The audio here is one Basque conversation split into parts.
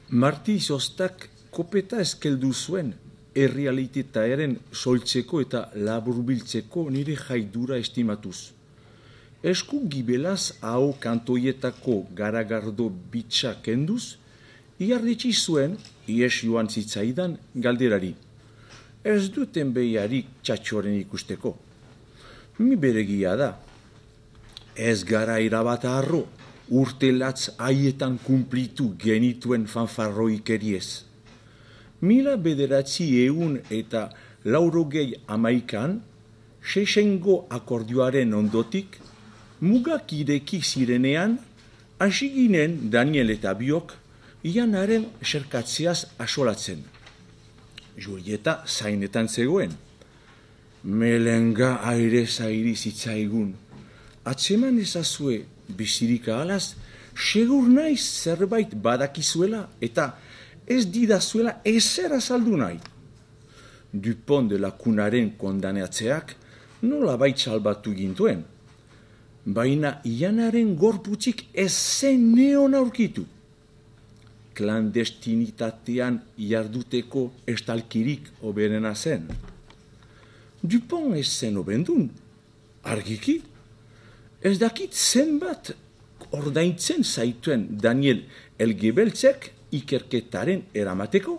Marti Sostak kopeta eskeldu zuen errealitatearen soltzeko eta laburbiltzeko nire jaidura estimatuz. Esku gibelaz hau kantoietako garagardo bitxa kenduz, iardetsi zuen ies joan zitzaidan galderari. Ez duten behiarik txatxoren ikusteko. Mi beregia da. Ez gara irabat harro, urtelatz haietan kumplitu genituen fanfarroikeriez. 1981 Sesengo akordioaren ondotik, mugak ireki zirenean, hasi ginen Daniel eta biok, Ianaren serkatzeaz asolatzen. Julieta zainetan zegoen. Melenga aire zairi zitzaigun. Atzeman ezazue bizirik ahalaz, segur naiz zerbait badakizuela eta ez didazuela ezer azaldu nahi. Dupont de la Cunaren kondanatzeak nolabait salbatu gintuen. Baina Ianaren gorputzik ez zen neon aurkitu. Klandestinitatean jarduteko estalkirik oberena zen. Dupont ez zen obendun, argiki. Ez dakit zenbat ordaintzen zaituen Daniel Elgebeltzek ikerketaren eramateko,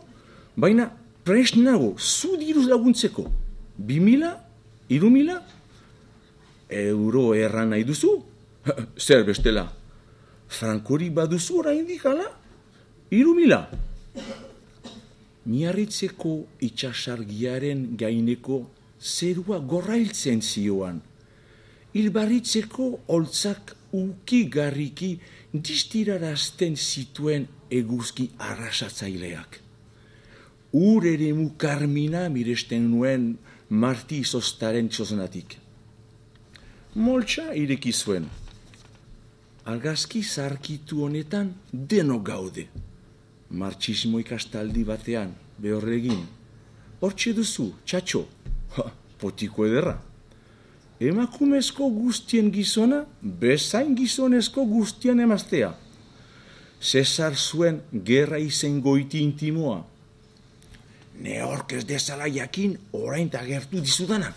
baina prest nago zu diruz laguntzeko. 2.000, 3.000 euro erran nahi duzu? Zer bestela? Frankori baduzu oraindik hala? 3.000. Miarritzeko itxasargiaren gaineko zerua gorrailtzen zioan. Hilbarritzeko holtzak ukigarriki distirarazten zituen eguzki arrasatzaileak. Ur eremu karmina miresten nuen Marti Sostaren txoznatik. Moltsa ireki zuen. Argazki zarkitu honetan deno gaude. Marxismo ikastaldi batean, behorregin. Hortxe duzu, txatxo. Potiko ederra. Emakumezko guztien gizona, bezain gizonezko guztien emaztea. Cesar zuen gerra izen goiti intimoa. Ne hork ez dezala jakin orain tagertu dizudana.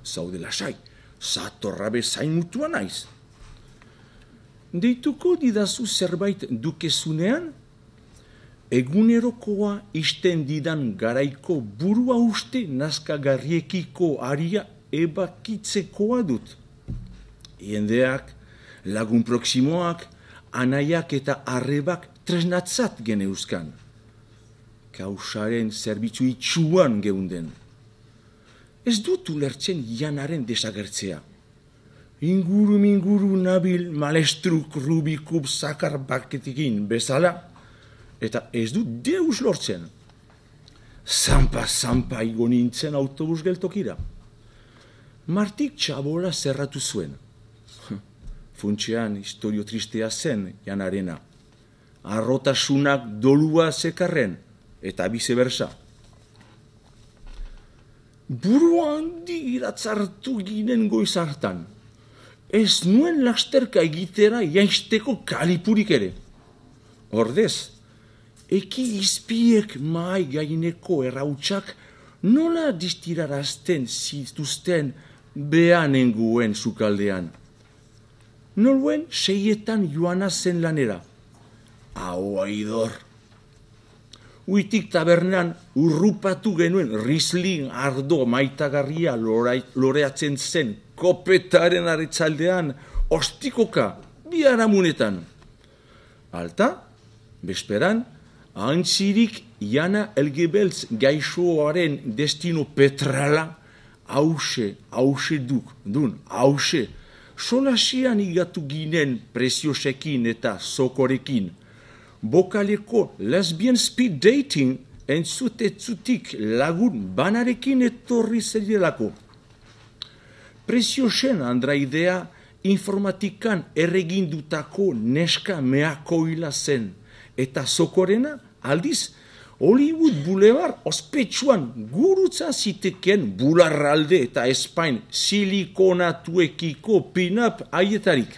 Zaude lasai, zatorra bezain mutua naiz. Deituko didazu zerbait dukezunean? Egunerokoa isten didan garaiko burua uste nazkagarriekiko aria ebakitzekoa dut. Jendeak, lagun proximoak, anaiak eta arrebak tresnatzat geneuzkan. Kausaren zerbitzu itxuan geunden. Ez dut ulertzen Janaren desagertzea. Inguru nabil malestruk rubikub zakar baketikin bezala, eta ez dut deus lortzen. Zampa igo nintzen autobus geltokira. Martik txabola zerratu zuen. Funtsean historio tristea zen Janarena. Arrotasunak dolua zekarren, eta bizebersa. Buru handi iratzartu ginen goiz hartan. Ez nuen lasterka egitera jaisteko kalipurik ere. Ordez, eki izpiek mahai gaineko errautsak nola distirarazten zituzten behanenguen sukaldean. Noluen 6 joana zen lanera. Hau aidor. Uitik tabernan urrupatu genuen Riesling ardo maitagarria loreatzen zen kopetaren aretzaldean ostikoka biharamunetan. Alta, besperan, antzirik Jana Elgebeltz gaixoaren destino petrala hause solasian igatu ginen preziosekin eta zokorekin. Bokaleko lesbian speed dating entzutetzutik lagun banarekin etorri zelelako. Preziosen andraidea informatikan erregindutako neska meakoila zen, eta zokorena aldiz Hollywood Boulevard ospetsuan gurutza ziteken bularralde eta Espain silikonatuekiko pin-up aietarik.